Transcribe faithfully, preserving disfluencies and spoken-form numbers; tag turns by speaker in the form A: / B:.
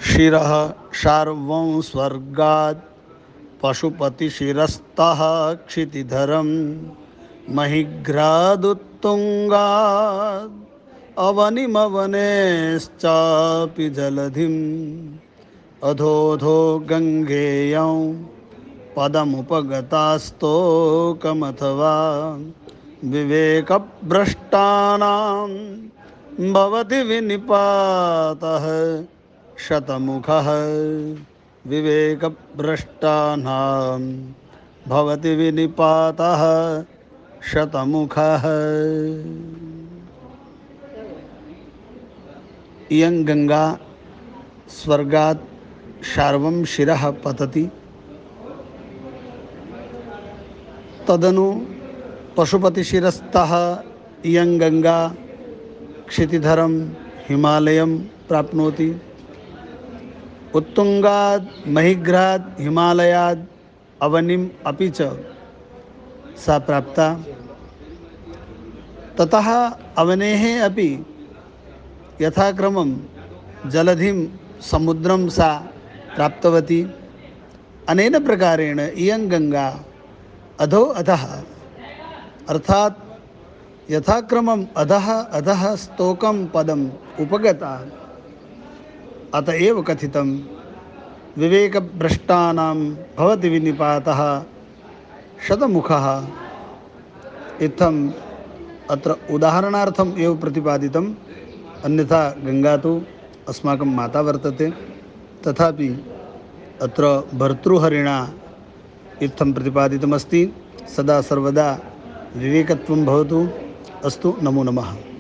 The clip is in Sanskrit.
A: शिरः शार्वं स्वर्गात् पशुपतिशिरस्तः क्षितिधरं महिघ्रादुत्तुङ्गात् अवनिमवनेश्चापि जलधिम् अधोऽधो गङ्गेयं पदमुपगतास्तोकमथवा विवेकभ्रष्टानां भवति विनिपातः शतमुखः विवेकभ्रष्टानां भवति विनिपातः शतमुखः। इयं गंगा स्वर्गात् शार्वं शिरः पतति तदनु पशुपतिशिरस्तः इयं गंगा क्षितिधरं हिमालयं प्राप्नोति। उत्तुंगात् महिघ्रात् हिमालयात् अवनिम् अपि च सा प्राप्ता। ततः अवनेः अपि यथाक्रमं जलधिं समुद्रं सा प्राप्तवती। अनेन प्रकारेण इयं गंगा अधो अधः अर्थात यथाक्रमम् अधः अधः स्तोकं पदम् उपगता। अतएव कथितं विवेकभ्रष्टानां भवति विनिपातः शतमुखः। इत्थम् अत्र उदाहरणार्थम् एव प्रतिपादितम्। अन्यथा गंगा तु अस्माकं माता वर्तते, तथापि अत्र भर्तृहरिणा इत्थं प्रतिपादितमस्ति। सदा सर्वदा विवेकत्वं भवतु। अस्तु, नमो नमः।